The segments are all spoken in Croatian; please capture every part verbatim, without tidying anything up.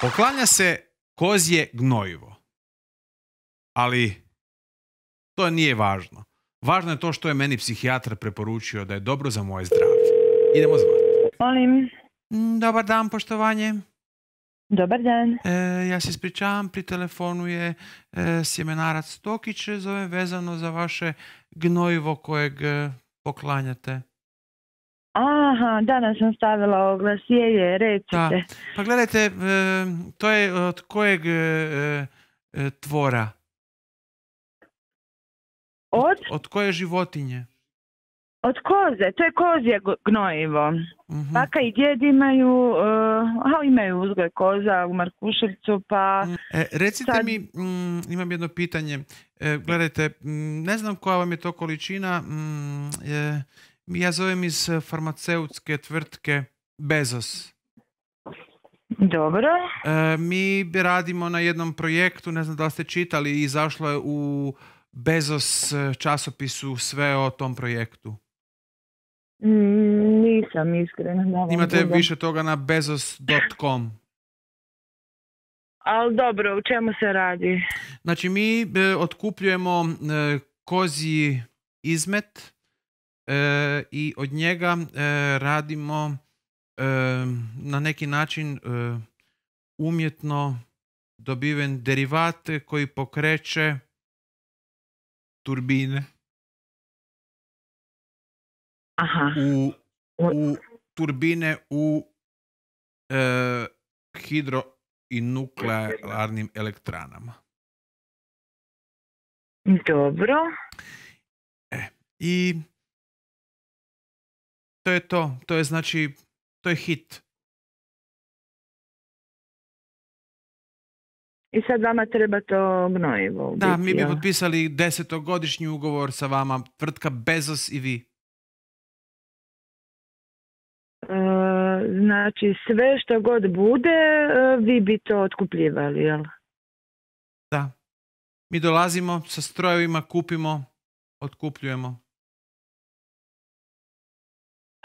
Poklanja se kozje gnojivo. Ali to nije važno. Važno je to što je meni psihijatar preporučio da je dobro za moje zdravlje. Idemo zvati. Molim. Dobar dan, poštovanje. Dobar dan. E, ja se ispričavam, pri telefonu je e, sjemenarac Tokić, zove vezano za vaše gnojivo kojeg e, poklanjate. Aha, danas sam stavila oglas, je, je, recite. Da. Pa gledajte, e, to je od kojeg e, e, tvora? Od? Od koje životinje? Od koze, to je kozje gnojivo. Uh-huh. Baka i djed imaju, uh, aha, imaju uzgoj koza u Markuševcu, pa... E, recite sad... mi, mm, imam jedno pitanje. E, gledajte, mm, ne znam koja vam je to količina. Mm, e, ja zovem iz farmaceutske tvrtke Bezos. Dobro. E, mi radimo na jednom projektu, ne znam da li ste čitali, izašlo je u Bezos časopisu sve o tom projektu. Mm, nisam iskreno. Imate budem. Više toga na bezos dot com. Ali dobro, u čemu se radi? Znači mi e, otkupljujemo e, kozji izmet e, i od njega e, radimo e, na neki način e, umjetno dobiven derivat koji pokreće turbine. Aha. U, u turbine u e, hidro i nuklearnim elektranama. Dobro. E, i to je to. To je znači, to je hit. I sad vama treba to gnojivo. Da, mi bi potpisali desetogodišnji ugovor sa vama, tvrtka Bezos i vi. Znači, sve što god bude, vi bi to otkupljivali, jel? Da. Mi dolazimo sa strojevima, kupimo, otkupljujemo.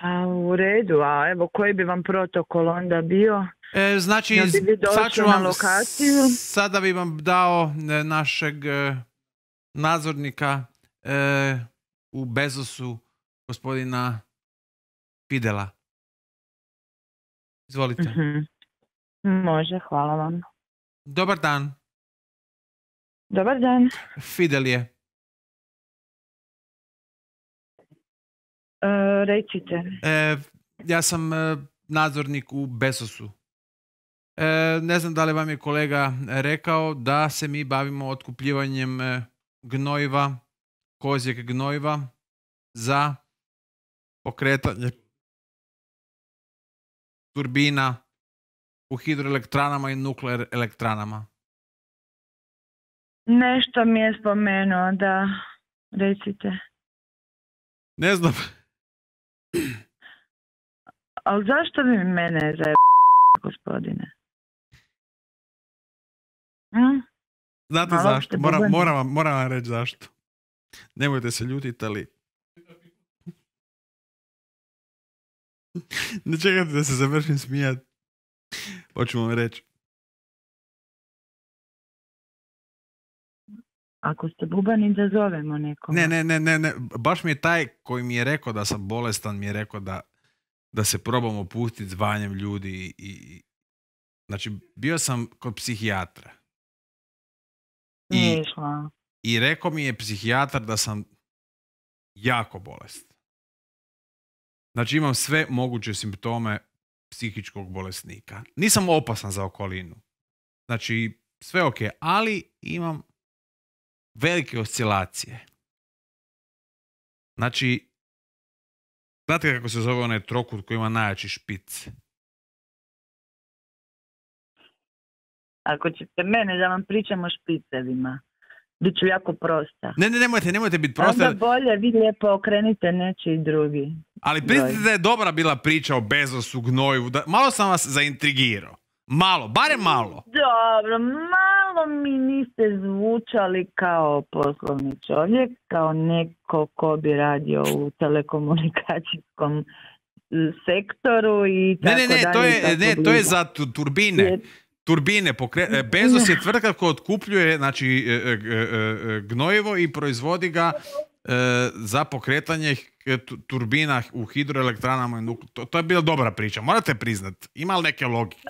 A u redu, a evo koji bi vam protokol onda bio? E, znači, ja bi sad ću vam, lokaciju? sada bi vam dao e, našeg e, nadzornika e, u Bezosu, gospodina Fidela. Izvolite. Uh-huh. Može, hvala vam. Dobar dan. Dobar dan. Fidel je. E, recite. E, ja sam e, nadzornik u Bezosu. E, ne znam da li vam je kolega rekao da se mi bavimo otkupljivanjem e, gnojiva, kozjeg gnojiva za pokretanje turbina u hidroelektranama i nuklear elektranama. Nešto mi je spomenuo, da, recite. Ne znam. Ali zašto vi mene zajebate, gospodine? Hm? Znate Malo zašto? Moram, moram, vam, moram vam reći zašto. Nemojte se ljutiti, ali... Ne čekajte da se završim smijat. Hoću vam reći. Ako ste bubani, da zovemo nekoga. Ne, ne, ne, ne, ne. Baš mi je taj koji mi je rekao da sam bolestan, mi je rekao da, da se probamo pustiti zvanjem ljudi. I, i, znači, bio sam kod psihijatra. I, I rekao mi je psihijatar da sam jako bolestan. Znači imam sve moguće simptome psihičkog bolesnika. Nisam opasan za okolinu. Znači sve ok, ali imam velike oscilacije. Znači, znate kako se zove onaj trokut koji ima najjači špic? Ako ćete mene da vam pričam o špicevima, bit ću jako prosta. Ne, ne, nemojte, nemojte biti prosta. Onda bolje, vi lijepo okrenite nečiji drugi. Ali priznajte da je dobra bila priča o Bezosu, gnojivu. Da, malo sam vas zaintrigirao. Malo, barem malo. Dobro, malo mi niste zvučali kao poslovni čovjek, kao neko ko bi radio u telekomunikacijskom sektoru i tako ne, ne, ne, dalje. To je, ne, to je za turbine. turbine. Pokre... Bezos je tvrtka koja otkupljuje znači, gnojivo i proizvodi ga za pokretanje turbina u hidroelektranama. To, to je bila dobra priča. Morate priznat. Ima li neke logike?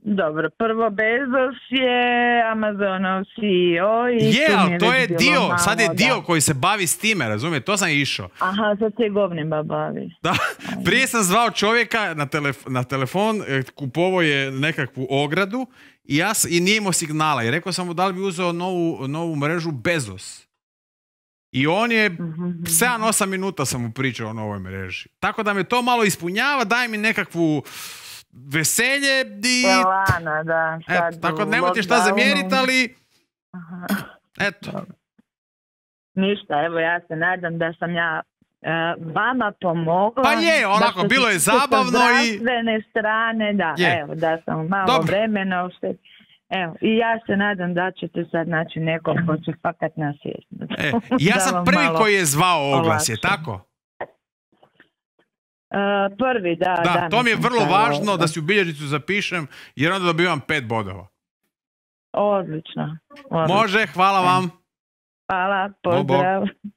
Dobro, prvo Bezos je Amazonov C E O i je, ali to je dio, malo, sad je dio da. koji se bavi s time, razumije, to sam išao. Aha, sad se govnima bavi. Da, prije sam zvao čovjeka na, telef- na telefon, kupovao je nekakvu ogradu i, ja, i nije imao signala i rekao sam mu da li bi uzeo novu, novu mrežu Bezos. I on je, sedam osam minuta sam mu pričao o novoj mreži. Tako da me to malo ispunjava, daj mi nekakvu veselje i... Lana, da. Eto, tako nemojte šta zamjeriti, ali... Aha. Eto. Ništa, evo ja se nadam da sam ja uh, vama pomogla. Pa je, onako, bilo je zabavno i... zdravstvene strane, da, je. Evo, da sam malo Dobro. vremena ušte... Evo, i ja se nadam da ćete sad naći nekog ko će fakat nasvijestiti. E, ja sam prvi malo... koji je zvao oglas, je tako? Uh, prvi, da. Da, da to mi je vrlo važno da. da si u bilježnicu zapišem, jer onda dobivam pet bodova. Odlično. Odlično. Može, hvala vam. Hvala, pozdrav. Bog, bog.